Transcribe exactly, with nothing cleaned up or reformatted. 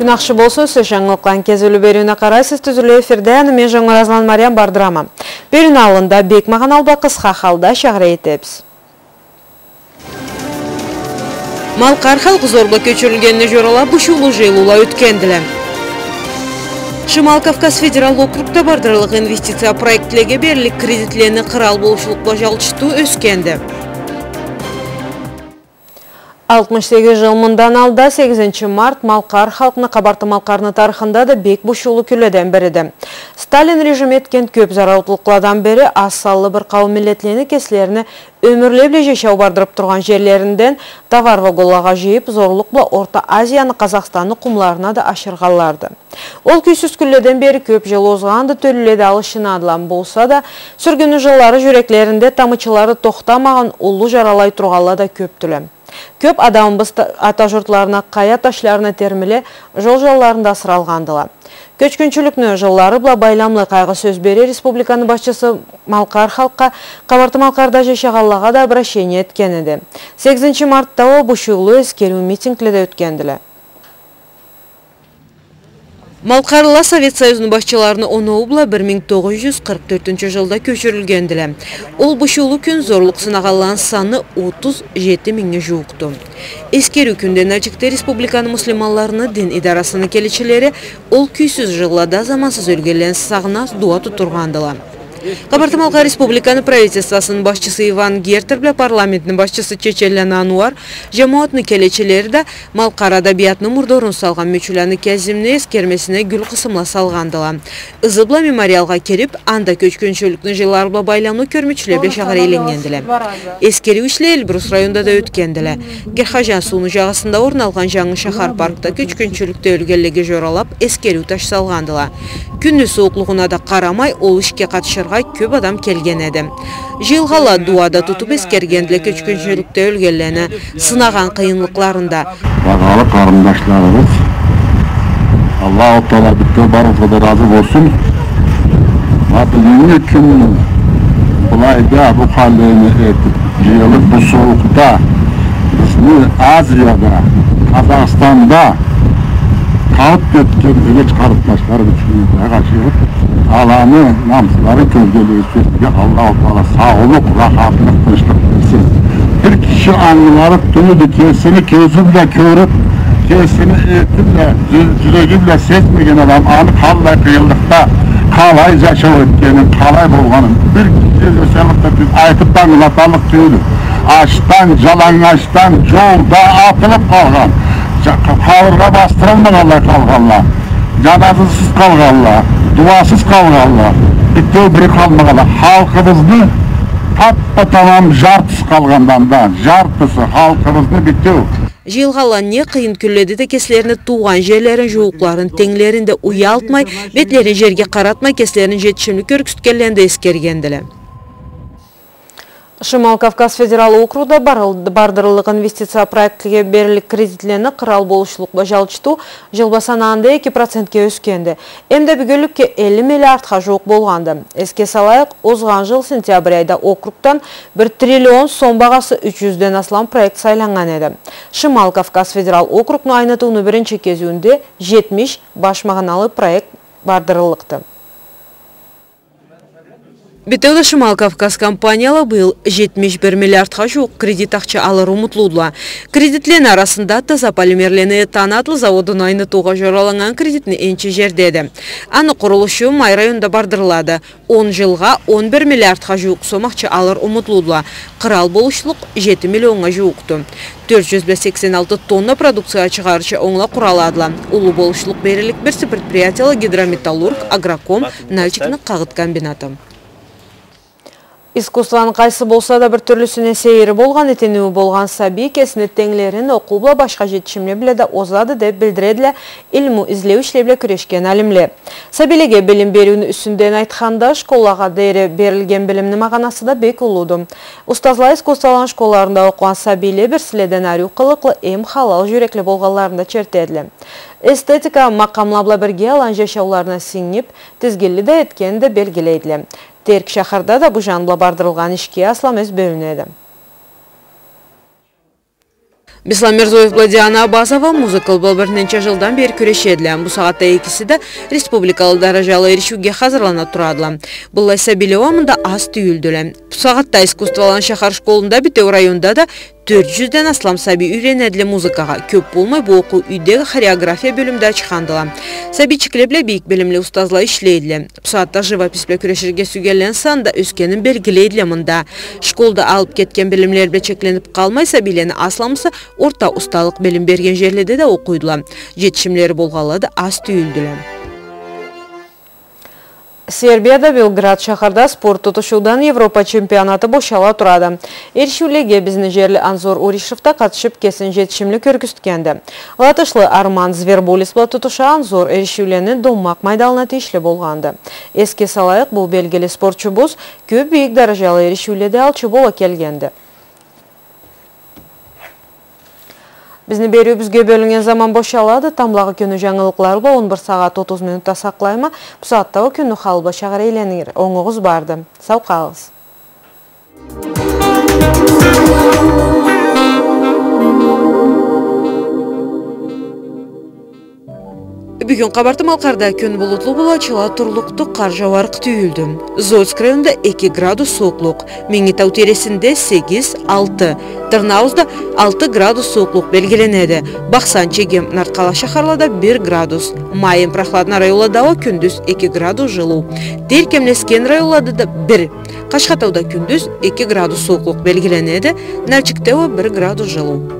Ахшы болсун, сиз жангылыкъланы кезиулю бериуюне къарайсыз. Тюзюлю эфирде аны мен, Жонгуразланы Мариям, бардырама. Бериуню аллында бек магъаналы бла къысха халда чакъыры этебиз. Малкъар халкъ зор бла кёчюрюлгенине жоралаб, бушуулу жыйылыула ётгендиле. Шимал Кавказ федерал округда бардырыллыкъ инвестиция проектлеге бериллик кредитлени къырал болушлукъ бла жалчытыу ёсгенди. Алтмыш сегиз жыл мындан алда, сегизинчи март, малкъар халкъны, Къабарты-Малкъарны тарыхында да бек бушуулу кюнледен бириди. Сталин режими этген кёб зараутлукъладан бери аз санлы бир къауум миллетлени кеслерини ёмюрле бла жашау бардырыб тургъан жерлеринден товар вагонлагъа жыйыб, зорлукъ бла Орта Азияны, Къазахстанны къумларына да ашыргъанларды. Ол кюйсюз кюнледен бери кёб жыл озгъанды, тёлюле да алышынадыла. Болса да, сюргюнню жыллары жюреклеринде тамычылары тохтамагъан, уллу жаралай тургъанла да кёбдюле. Кёб адамыбыз та-, ата журтларына къая ташларына термиле, жол жанларында асыралгъандыла. Кёчгюнчюлюкню жыллары бла байламлы къайгъы сёз бере республиканы башчысы малкъар халкъгъа, Къабарты-Малкъарда жашагъанлагъа да обращение этген эди. Сегизинчи мартда уа бушуулу эсгериу митингле да ётгендиле. Малкъарлыла Совет Союзну башчыларыны оноуу бла бир минг тогъуз жюз къыркъ тёртюнчю жылда кёчюрюлгендиле. Ол бушуулу кюн зорлукъ сынагъанланы саны отуз жети мингнге жууукъду. Эсгериу кюнден нальчикде республиканы муслиманларыны дин идарасыны келечилери ол кюйсюз жыллада замансыз ёлгенлени сагъынаб дуа тутдургъандыла. Къабарты-Малкъар Республиканы правительствосуну башчысы Иван Гердер бла парламентни башчысы Чеченланы Ануар, жамауатны келечилери да малкъар адабиятыны мурдорун салгъан Мючюланы Кязимни эсгермесине гюл къысымла салгъандыла. Ызы бла мемориалгъа кириб, анда кёчгюнчюлюкню жыллары бла байламлы кёрмючюле бла чагъыр эйленнгендиле. Эсгериу ишле Эльбрус районунда да ётгендиле. Герхаджан сууну жагъасында орун алгъан жангы шахар паркда кёчгюнчюлюкде ёлгенлеге жоралаб, эсгериу таш салгъандыла. Кюнню сууукълугъуна да къарамай, ол ишге къатышыргъа кёб адам келген эди. Жыйылгъанла дуа да тутуб эсгергендиле кёчгюнчюлюкде ёлгенлени сынагъан къыйынлыкъларын да. Багъалы къарындашларыбыз, Аллаху Таала битеу барыгъызгъа да разы болсун. Ма бюгюннгю кюн былайда бу халлени этиб, жыйылыб, бу сууукъда бизни Азияда, Къазахстанда къалыб кетген юйдеги къарындашларыбыз ючюн да къачырыб, аланы намысларын кёзгеллеге сюебиз. Аллаху Таала саулукъ, рахатлыкъ, тынчлыкъ берсин. Бир киши ангыларыкъ тюйюлдю, кесини кёзю бла кёрюб, кесини эти бла, жю-, жюреги бла сезмеген адам аны къаллай къыйынлыкъда, къалай жашау этгенин, къалай болгъанын бир киши эсенлик да тюйюл, айтыб да ангылаталлыкъ тюйюлдю. Ачдан, жаланнгачдан, жолда атылыб къалгъан, жа-, къа-, къабыргъа бастырылмагъанлай къалгъанла, жаназасыз къалгъанла, дуасыз къалгъанла, битеу бири къалмагъанла. Халкъыбызны таппа-тамам жартысы къалгъанды анда, жартысы халкъыбызны битеу. Жыйылгъанла не къыйын кюнледе да кеслерини туугъан жерлерин, жууукъларын, тенглерин да уялтмай, бетлерин жерге къаратмай, кеслерин жетишимли кёргюзтгенлерин да эсгергендиле. Шимал Кавказ федерал округда барыл-, бардырыллыкъ инвестиция проектге бериллик кредитлени къырал болушлукъ бла жалчытыу жыл бла санагъанда эки процентге ёсгенди. Эм да бюгюнлюкге элли миллиардха жууукъ болгъанды. Эсге салайыкъ, озгъан жыл сентябрь айда округдан бир триллион сом багъасы юч жюзден аслам проект сайланнган эди. Шимал Кавказ федерал округну айнытыуну биринчи кезиуюнде жетмиш баш магъаналы проект бардырыллыкъды. Битеу да Шимал Кавказ компанияла быйыл жетмиш бир миллиардха жууукъ кредит ахча алыр умутлудула. Кредитлени арасында таза полимерлени этан атлы заводун айнытыугъа жораланнган кредитни энчи жердеди. Аны къурулушу Май районунда бардырылады. Он жылгъа он бир миллиардха жууукъ сом ахча алыр умутлудула. Къырал болушлукъ жети миллионнга жууукъду. Тёрт жюз бла сексен алты тонна продукция чыгъарырча онгла къураладыла. Уллу болушлукъ бериллик бирси предприятияла Гидрометаллург, Агроком, Нальчикни къагъыт комбинаты. Искусствону къайсы болса да бир тюрлюсюне сейири болгъан, итинии болгъан сабий кесини тенглерин окъуу бла, башха жетишимле бла да озады, деб билдиредиле илму излеу ишле бла кюрешген алимле. Сабийлеге билим бериуню юсюнден айтханда, школлагъа дери берилген билимни магъанасы да бек уллуду. Устазла искусстволаны школларында окъугъан сабийле бирсиледен ариу къылыкълы эм халал жюрекли болгъанларын да чертедиле. Эстетика макъамла бла бирге аланы жашауларына сингиб, тизгинли да этгенин да белгилейдиле. Терк шахарда да бу жан бла бардырылгъан ишге аслам эс бёлюнеди. Беслан Мирзоев бла Диана Абазова музыкалыкъ бла бир ненча жылдан бери кюрешедиле. Бусагъатда экиси да республикалыкъ даражалы эришиуге хазырлана турадыла. Быллай сабийле уа мында аз тюйюлдюле. Бусагъатда искусстволаны шахар школунда, бютеу районда да тёрт жюзден аслам сабий юйренедиле музыкагъа. Кёп болмай бу окъуу юйдеги хореография бёлюмде ачхандыла. Сабийчикле бла бийик билимли устазла ишлейдиле. Бусагъатда живопись бла кюреширге сюйгенлени саны да ёсгенин белгилейдиле мында. Школда алып кетген билимле бла чекленип къалмай, сабийлени асламысы орта усталыкъ билим берген жерледе да окъуйдула. Жетишимлери болгъанла да аз тюйюлдюле. Сербияда Белград шахарда спорт тутушуудан Европа чемпионаты бошала турады. Эришиулеге бизни жерли Анзор Уришев да къатышып, кесин жетишимли кёргюзтгенди. Латышлы Арман Звербулис бла тутуша Анзор эришиулени Доммакъ майданына тийишли болгъанды. Эсге салайыкъ, бу белгили спортчубуз кёп бийик даражалы эришиуледе алчы бола келгенди. Бизни бериуюбюзге бёлюннген заман бошалады. Тамблагъы кюнню жангылыкълары бла он бир сагъат отуз минутда сакълайма. Бусагъатда уа кюнню халы бла шагъар эйленир. Онгугъуз барды. Сау къалыгъыз. Бюгюн Къабарты-Малкъарда кюн булутлу бола, чыла турлукъду, къар жауарыкъ тюйюлдю. Зольск районунда эки градус сууукълукъ, Минги тау тийресинде сегиз, алты, Тырныауузда алты градус сууукълукъ белгиленеди. Бахсан, Чегем, Нарткъала шахарлада бир градус. Ма эм прохладный районлада уа кюндюз эки градус жылыу. Тер кемлесген районлада да бир. Къашхатауда кюндюз эки градус сууукълукъ белгиленеди, Нальчикде уа бир градус жылыу.